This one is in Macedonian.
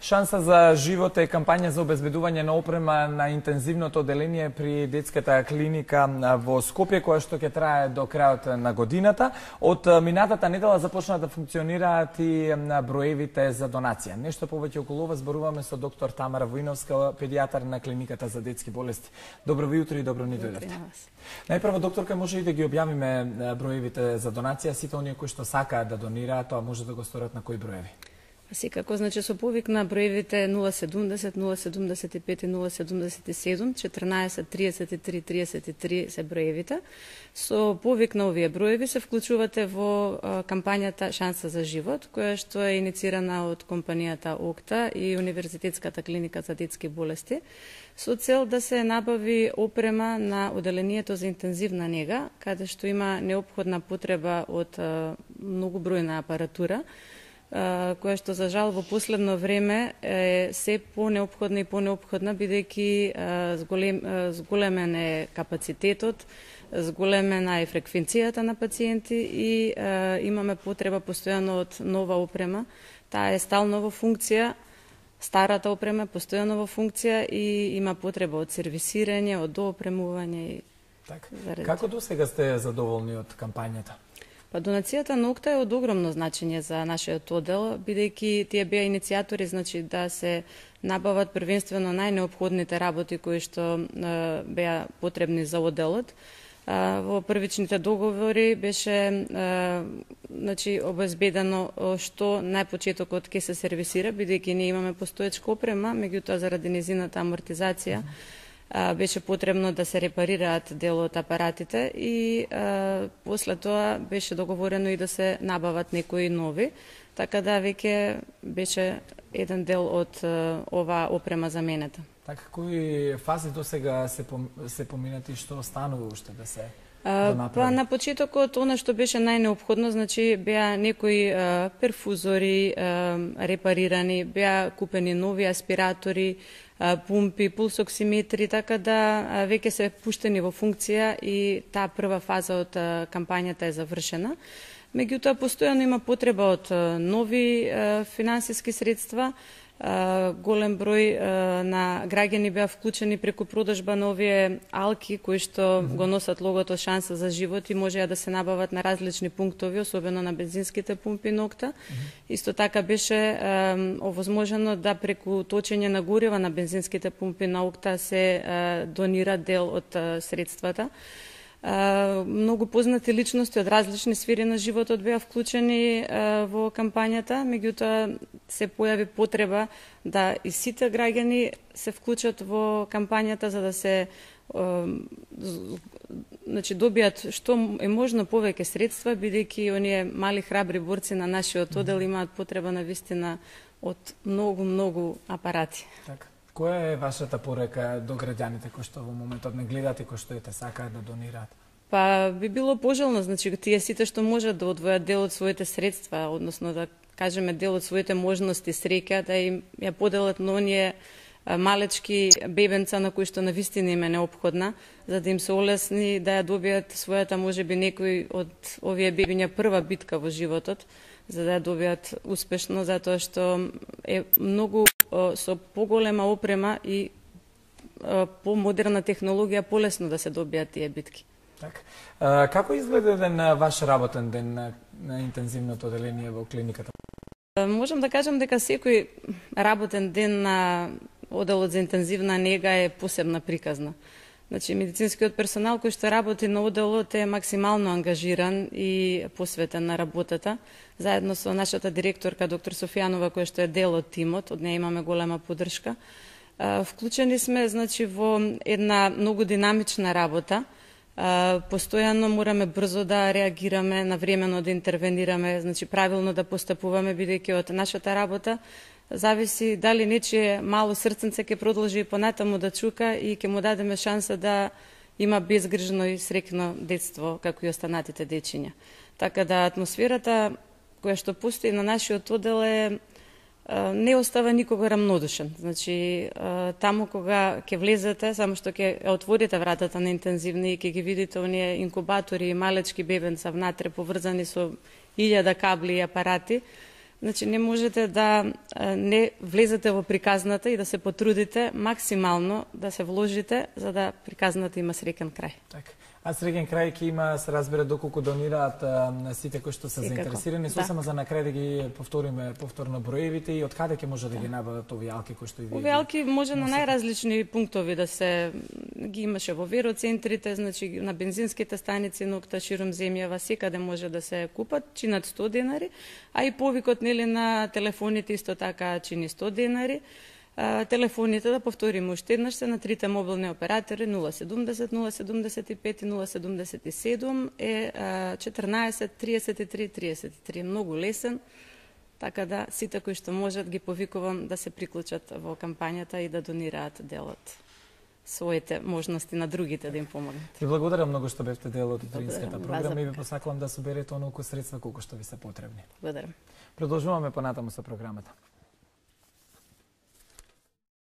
Шанса за живот е кампања за обезбедување на опрема на интензивното одделение при детската клиника во Скопје, која што ќе трае до крајот на годината. Од минатата недела започна да функционираат и броевите за донација. Нешто повеќе околу ова зборуваме со доктор Тамара Воиновска, педијатар на клиниката за детски болести. Добро ви утро и добро ни дојдовте. Најпрво, докторка, може и да ги објавиме броевите за донација, сите оние кои што сакаат да донираат, тоа може да го сторат на кои броеви? Секако, значи со повик на броевите 070, 075 и 077, 14, 33, 33 се броевите. Со повик на овие броеви се вклучувате во кампањата Шанса за живот, која што е иницирана од компанијата ОКТА и Универзитетската клиника за детски болести, со цел да се набави опрема на одделението за интензивна нега, каде што има неопходна потреба од многу бројна апаратура, која што за жал во последно време е се понеопходна и понеопходна, бидејќи зголемен е капацитетот, зголемена е фреквенцијата на пациенти и имаме потреба постојано од нова опрема. Таа е стално во функција, старата опрема е постојано во функција и има потреба од сервисирање, од доопремување. Како досега сте задоволни од кампањата? Па донацијата на ОКТА е од огромно значење за нашиот оддел, бидејќи тие беа иницијатори, значи да се набават првенствено најнеопходните работи кои што беа потребни за одделот. Во првичните договори беше значи обезбедено што најпочетокот ќе се сервисира, бидејќи ние имаме постоечка опрема, меѓутоа заради низината амортизација беше потребно да се репарираат дел од апаратите и после тоа беше договорено и да се набават некои нови, така да веќе беше еден дел од оваа опрема заменета. Така, кои фази досега се поминати, што останува уште да се направи? Па на почетокот она што беше најнеопходно, значи беа некои перфузори репарирани, беа купени нови аспиратори, пумпи, пулсоксиметри, така да веќе се пуштени во функција и таа прва фаза од кампањата е завршена. Меѓутоа, постојано има потреба од нови финансиски средства. Голем број на граѓани беа вклучени преку продажба на овие алки кои што го носат логото Шанса за живот и можеа да се набават на различни пунктови, особено на бензинските пумпи на ОКТА. Исто така беше овозможено да преку точење на горива на бензинските пумпи на ОКТА се донира дел од средствата. Многу познати личности од различни сфери на животот беа вклучени во кампањата, меѓутоа се појави потреба да и сите граѓани се вклучат во кампањата за да се значи добијат што е можно повеќе средства, бидејќи оние мали храбри борци на нашиот оддел имаат потреба на вистина од многу апарати. Така. Која е вашата порека до граѓаните кои што во моментот не гледат и кои што ете сакаат да донираат? Па би било пожелно, значи тие сите што можат да одвојат дел од своите средства, односно да кажеме дел од своите можности, среќа, да им ја поделат на оние малечки бебенца на кои што навистина им е неопходна, за да им се олесни да ја добијат својата можеби некој од овие бебиња прва битка во животот, за да ја добијат успешно, затоа што е многу со поголема опрема и помодерна технологија полесно да се добијат тие битки. Така. Како изгледа еден ваш работен ден на интензивното одделение во клиниката? Можам да кажам дека секој работен ден на одделот за интензивна нега е посебна приказна. Значи, медицинскиот персонал кој што работи на одделот е максимално ангажиран и посветен на работата. Заедно со нашата директорка, доктор Софијанова, која што е дел од тимот, од неја имаме голема поддршка. Вклучени сме, значи, во една многу динамична работа. Постојано мораме брзо да реагираме, навремено да интервенираме, значи правилно да постапуваме, бидејќи од нашата работа зависи дали нечие мало срценце ќе продолжи и понатаму да чука и ќе му дадеме шанса да има безгрижно и среќно детство, како и останатите дечиња. Така да атмосферата која што постои на нашиот оддел не остава никога рамнодушен. Значи, таму кога ќе влезете, само што ќе отворите вратата на интензивни и ќе ги видите оние инкубатори и малечки бебенца внатре поврзани со 1000 кабли и апарати, Значи, не можете да не влезете во приказната и да се потрудите максимално да се вложите за да приказната има среќен крај. Така. А среќен крај ќе има, се разбира, доколку донираат сите кои што се заинтересирани. Сосема за на крај да ги повториме повторно броевите и од каде ќе може да ги набават овие алки кои што и вие. Овие алки може на најразлични пунктови да се ги имаше во вероцентрите, значи на бензинските станици нокта широм земјава, секаде може да се купат, чинат 100 денари, а и повикот нели на телефоните исто така чини 100 денари. Телефоните, да повториме уште еднаш, се на трите мобилни оператори 070, 075 и 077 е 14 33 33. Многу лесен, така да сите кои што можат ги повикувам да се приклучат во кампањата и да донираат дел од своите можности на другите да им помогнат. Ви благодарам многу што бевте дел од утринската програма и ви посакувам да соберете онолку средства колку што ви се потребни. Благодарам. Продолжуваме понатаму со програмата.